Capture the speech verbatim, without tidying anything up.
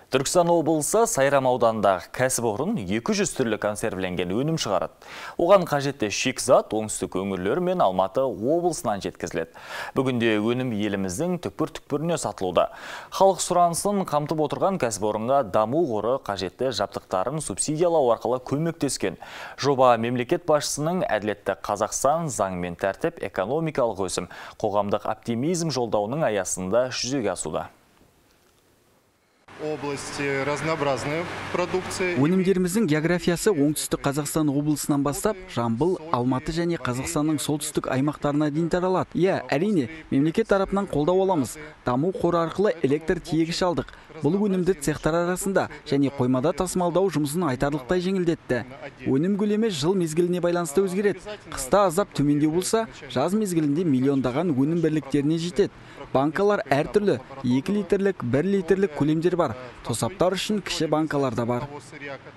Түркістан облысы Сайрам ауданындағы кәсіпорын екі жүз түрлі консервіленген өнім шығарады. Оған қажетті шикізат оңтүстік өңірлер мен Алматы облысынан жеткізіледі. Бүгінде өнім еліміздің түкпір-түкпіріне сатылуда. Халық сұранысын қамтып отырған кәсіпорынға даму қоры қажетті жабдықтарын субсидиялау арқылы көмектескен. Жоба мемлекет басшысының әділетті Қазақстан заң мен тәртіп экономикалық өсім, қоғамдық оптимизм жолдауының аясында жүзеге асуда. Области разнообразные продукции. Өнімдеріміздің географиясы оңтүстік Қазақстан облысынан бастап, Жамбыл, Алматы және Қазақстанның солтүстік аймақтарына дейін таралады. Иә, әрине, мемлекет тарапынан қолдау аламыз. Даму қоры арқылы электр тиегіш алдық. Бұл өнімді цехтар арасында және қоймада тасымалдау жұмысын айтарлықтай жеңілдетті. Өнім көлемі жыл мезгіліне байланысты өзгереді. Қыста аздап төмендеу болса, жаз мезгілінде миллиондаған өнім бірліктеріне жетеді. Банкалар әртүрлі, екі литрлік, бір литрлік көлемдер бар. Тосаптар үшін кіші банкалар да бар.